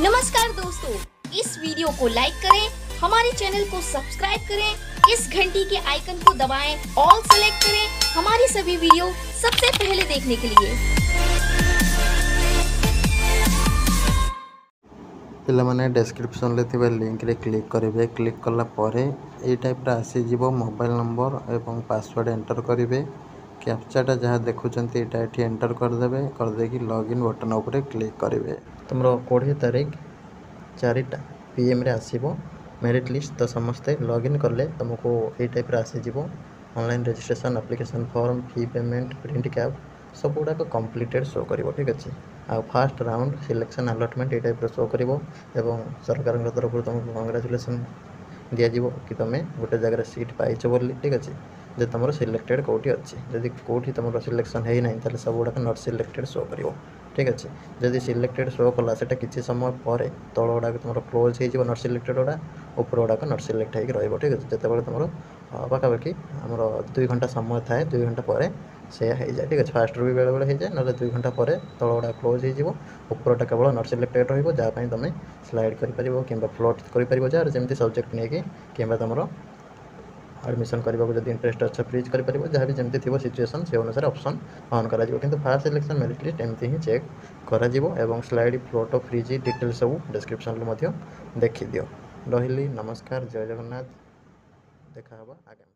नमस्कार दोस्तों, इस वीडियो को लाइक करें, हमारे चैनल को सब्सक्राइब करें, इस घंटी के आइकन को दबाएं, ऑल सेलेक्ट करें हमारी सभी वीडियो सबसे पहले देखने के लिए। ପିଲାମାନେ, ଡେସ୍କ୍ରିପସନ୍ରେ ଥିବା ଲିଙ୍କରେ କ୍ଲିକ୍ କରିବେ। କ୍ଲିକ୍ କଲା ପରେ ଏଇ ଟାଇପ୍ର ଆସିଯିବ। ମୋବାଇଲ୍ ନମ୍ବର ଏବଂ ପାସୱାର୍ଡ଼ ଏଣ୍ଟର୍ କରିବେ। କ୍ୟାପଚାଟା ଯାହା ଦେଖୁଛନ୍ତି, ଏଇଟା ଏଠି ଏଣ୍ଟର୍ କରିଦେବେ। କରିଦେଇକି ଲଗ୍ଇନ୍ ବଟନ୍ ଉପରେ କ୍ଲିକ୍ କରିବେ। ତୁମର 20 ତାରିଖ 4ଟା ପିଏମ୍ରେ ଆସିବ ମେରିଟ୍ ଲିଷ୍ଟ। ତ ସମସ୍ତେ ଲଗ୍ଇନ୍ କଲେ ତୁମକୁ ଏଇ ଟାଇପ୍ର ଆସିଯିବ। Online registration, application form, fee payment, print cap ସବୁଗୁଡ଼ାକ କମ୍ପ୍ଲିଟେଡ଼୍ ଶୋ କରିବ, ଠିକ୍ ଅଛି? ଆଉ ଫାଷ୍ଟ ରାଉଣ୍ଡ ସିଲେକ୍ସନ୍ ଆଲଟମେଣ୍ଟ ଏଇ ଟାଇପ୍ର ଶୋ କରିବ ଏବଂ ସରକାରଙ୍କ ତରଫରୁ ତୁମକୁ କଂଗ୍ରାଚୁଲେସନ୍ ଦିଆଯିବ କି ତୁମେ ଗୋଟେ ଜାଗାରେ ସିଟ୍ ପାଇଛ ବୋଲି, ଠିକ୍ ଅଛି? ଯେ ତୁମର ସିଲେକ୍ଟେଡ଼୍ କେଉଁଠି ଅଛି। ଯଦି କେଉଁଠି ତୁମର ସିଲେକ୍ସନ୍ ହେଇନାହିଁ, ତାହେଲେ ସବୁଗୁଡ଼ାକ not selected show କରିବ, ଠିକ୍ ଅଛି? ଯଦି ସିଲେକ୍ଟେଡ଼୍ ଶୋ କଲା, ସେଇଟା କିଛି ସମୟ ପରେ ତଳ ଗୁଡ଼ାକ ତୁମର କ୍ଲୋଜ୍ ହେଇଯିବ not selected ଗୁଡ଼ା, ଉପର ଗୁଡ଼ାକ not select ହେଇକି ରହିବ, ଠିକ୍ ଅଛି? ଯେତେବେଳେ ତୁମର ପାଖାପାଖି ଆମର 2 ଘଣ୍ଟା ସମୟ ଥାଏ, 2 ଘଣ୍ଟା ପରେ ସେଇଆ ହେଇଯାଏ, ଠିକ୍ ଅଛି? ଫାଷ୍ଟରୁ ବି ବେଳେବେଳେ ହେଇଯାଏ, ନହେଲେ 2 ଘଣ୍ଟା ପରେ ତଳ ଗୁଡ଼ା କ୍ଲୋଜ୍ ହେଇଯିବ, ଉପରଟା କେବଳ not selected ରହିବ, ଯାହା ପାଇଁ ତୁମେ ସ୍ଲାଇଡ଼୍ କରିପାରିବ କିମ୍ବା ଫ୍ଲୋଟ୍ କରିପାରିବ, ଯାହାର ଯେମିତି ସବଜେକ୍ଟ ନେଇକି, କିମ୍ବା ତୁମର ଆଡ଼ମିସନ୍ କରିବାକୁ ଯଦି ଇଣ୍ଟରେଷ୍ଟ ଅଛ, ଫ୍ରିଜ୍ କରିପାରିବ। ଯାହା ବି ଯେମିତି ଥିବ ସିଚୁଏସନ୍, ସେ ଅନୁସାରେ ଅପସନ୍ ଅନ୍ କରାଯିବ। କିନ୍ତୁ ଫାର୍ଷ୍ଟ ସିଲେକ୍ସନ୍ ମେରିଟ୍ ଲିଷ୍ଟ ଏମିତି ହିଁ ଚେକ୍ କରାଯିବ ଏବଂ ସ୍ଲାଇଡ଼୍, ଫ୍ଲୋଟ୍, ଫ୍ରିଜ୍ ଡିଟେଲ୍ ସବୁ ଡେସ୍କ୍ରିପସନ୍ରେ ମଧ୍ୟ ଦେଖିଦିଅ। ରହିଲି, ନମସ୍କାର, ଜୟ ଜଗନ୍ନାଥ। ଦେଖା ହେବ ଆଗାମୀ।